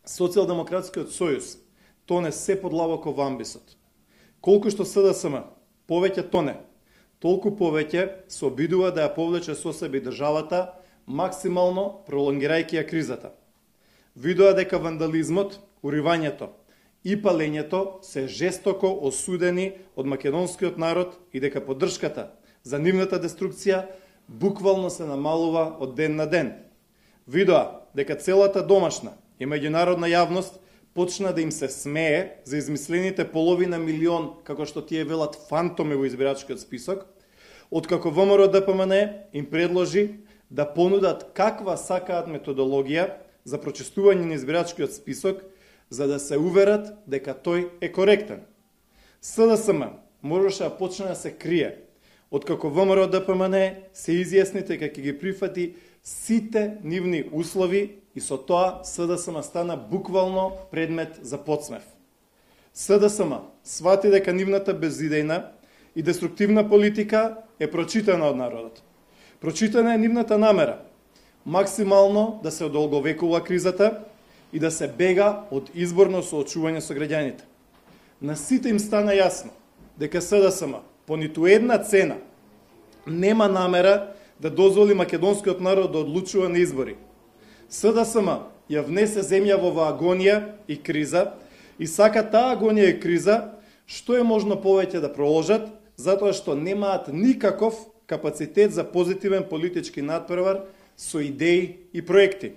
Социјалдемократскиот сојуз тоне се подлабоко во амбисот. Колку што СДСМ повеќе тоне, толку повеќе се обидува да ја повлече со себе државата, максимално пролонгирајќи ја кризата. Видоа дека вандализмот, уривањето и палењето се жестоко осудени од македонскиот народ и дека поддршката за нивната деструкција буквално се намалува од ден на ден. Видоа дека целата домашна и меѓународна јавност почна да им се смее за измислените половина милион, како што тие велат, фантоми во избирачкиот список, откако ВМРО ДПМН им предложи да понудат каква сакаат методологија за прочистување на избирачкиот список, за да се уверат дека тој е коректен. СДСМ можеше да почне да се крие, откако ВМРО ДПМН се изјасни дека ќе ги прифати сите нивни услови и со тоа СДСМ стана буквално предмет за подсмев. СДСМ свати дека нивната безидејна и деструктивна политика е прочитана од народот. Прочитана е нивната намера максимално да се одолговекува кризата и да се бега од изборно соочување со граѓаните. На сите им стана јасно дека СДСМ по ниту една цена нема намера да дозволи македонскиот народ да одлучува на избори. СДСМ ја внесе земја во агонија и криза и сака таа агонија и криза што е можно повеќе да проложат, затоа што немаат никаков капацитет за позитивен политички надпревар со идеи и проекти.